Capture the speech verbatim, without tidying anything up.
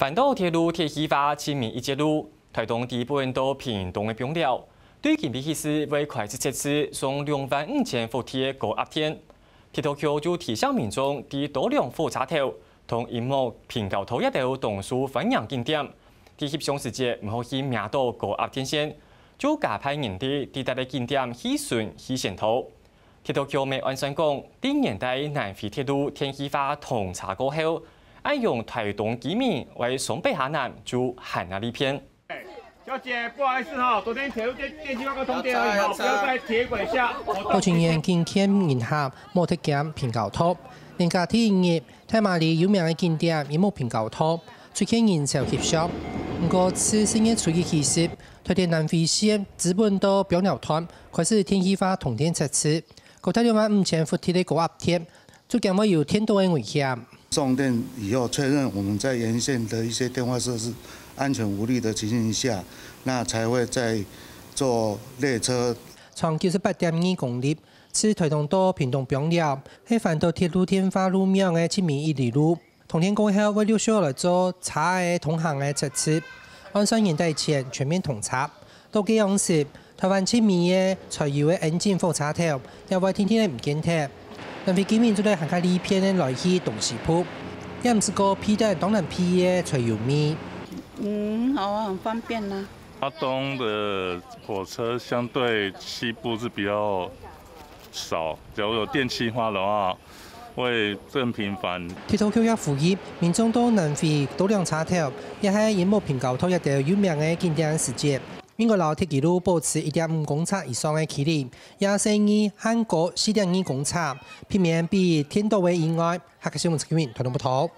半島鐵路鐵西化，尋日一節路，臺東底本到屏東个枋寮，對今晡日起始會開始設置上兩萬五千伏特个高壓電。鐵道局就提醒民眾，在多良火車頭同螢幕平交道這兜當受歡迎景點，在翕相時節毋好去摸著高壓電線，就加派人力在這兜景點去巡去先導。 鐵道局乜按算講，在年底南迴鐵路電氣化通車過後，恁樣臺東居民會上北下南就還較利便。小姐，不好意思哈，昨天鐵路電電氣化剛通電而已哈，不要在鐵軌下活動。保全員緊勸人客莫跈近平交道，連假第一日，大馬里有名个景點螢幕平交道，出現人潮翕相。毋過，自十月初一起始，臺東南迴線底本到枋寮段 開始電氣化通電測試，高達兩萬五千伏特个高壓電，就驚會有電倒个危險。送電以後確認我們在沿線的一些電話設施安全無虞的情形下，那才會再做列車。長九十八點二公里，自臺東到屏東枋寮，係環島鐵路電化路網个尋日一哩路。 通電過後，會陸續來做車仔通行个測試，按算年底前全面通車。到該央時，臺灣尋日个柴油个引擎火車頭，也會定定仔毋見忒。南迴居民做得還較利便个來去東西部，也毋使過避等當難避个柴油味。嗯，好啊，很方便啊。花東的火車相對西部是比較少，假如有電氣化的話， 會更頻繁。鐵道局也呼籲民眾到南迴多良車頭，也係螢幕平交道這兜有名个景點時節，應該摎鐵枝路保持一點五公尺以上个距離，也細義限高四點二公尺，避免被電倒个意外。客家新聞陳啟明，臺東報導。